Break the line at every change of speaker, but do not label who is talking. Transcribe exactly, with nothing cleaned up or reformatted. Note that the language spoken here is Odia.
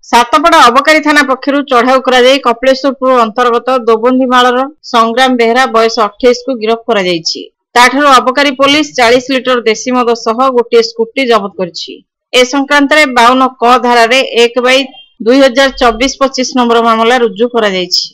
ସାତପଡ଼ା ଅବକାରୀ ଥାନା ପକ୍ଷରୁ ଚଢ଼ାଉ କରାଯାଇ କପିଳେଶ୍ୱରପୁର ଅନ୍ତର୍ଗତ ଦୋବନ୍ଦିମାଳର ସଂଗ୍ରାମ ବେହେରା ବୟସ ଅଠେଇଶକୁ ଗିରଫ କରାଯାଇଛି। ତାଠାରୁ ଅବକାରୀ ପୋଲିସ ଚାଳିଶ ଲିଟର ଦେଶୀ ମଦ ସହ ଗୋଟିଏ ସ୍କୁଟି ଜବତ କରିଛି। ଏ ସଂକ୍ରାନ୍ତରେ ବାଉନ କ ଧାରାରେ ଏକ ବାଇ ଦୁଇ ହଜାର ଚବିଶ ପଚିଶ ନମ୍ବର ମାମଲା ରୁଜୁ କରାଯାଇଛି।